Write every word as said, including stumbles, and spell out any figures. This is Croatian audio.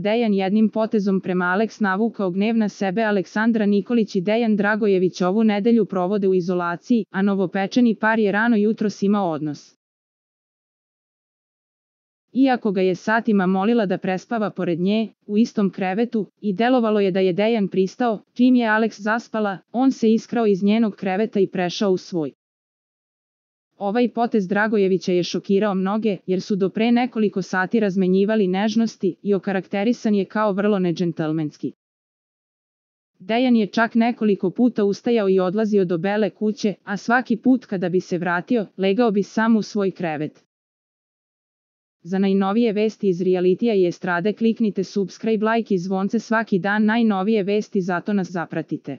Dejan jednim potezom prema Aleks navukao gnev na sebe. Aleksandra Nikolić i Dejan Dragojević ovu nedelju provode u izolaciji, a novopečeni par je rano jutros imao odnos. Iako ga je satima molila da prespava pored nje, u istom krevetu, i delovalo je da je Dejan pristao, čim je Aleks zaspala, on se iskrao iz njenog kreveta i prešao u svoj. Ovaj potez Dragojevića je šokirao mnoge, jer su do pre nekoliko sati razmenjivali nežnosti i okarakterisan je kao vrlo nedžentlmenski. Dejan je čak nekoliko puta ustajao i odlazio do Bele kuće, a svaki put kada bi se vratio, legao bi sam u svoj krevet. Za najnovije vesti iz realitija i estrade kliknite subscribe, like i zvonce svaki dan. Najnovije vesti, zato nas zapratite.